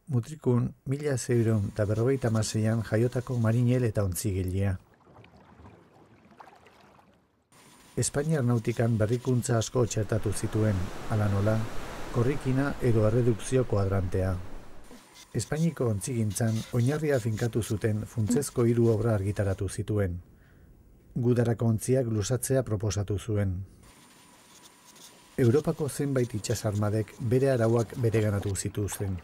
Mutrikun 1656an jaiotako marinel eta ontzigilea. Espainiar nautikan berrikuntza asko txertatu zituen, hala nola, korrikina edo erredukzio kuadrantea. Espainiko ontzigintzan oinarria finkatu zuten funtsezko 3 obra argitaratu zituen. Gudarako ontziak luzatzea proposatu zuen. Europako zenbait itsasarmadek bere arauak bereganatu zituzten.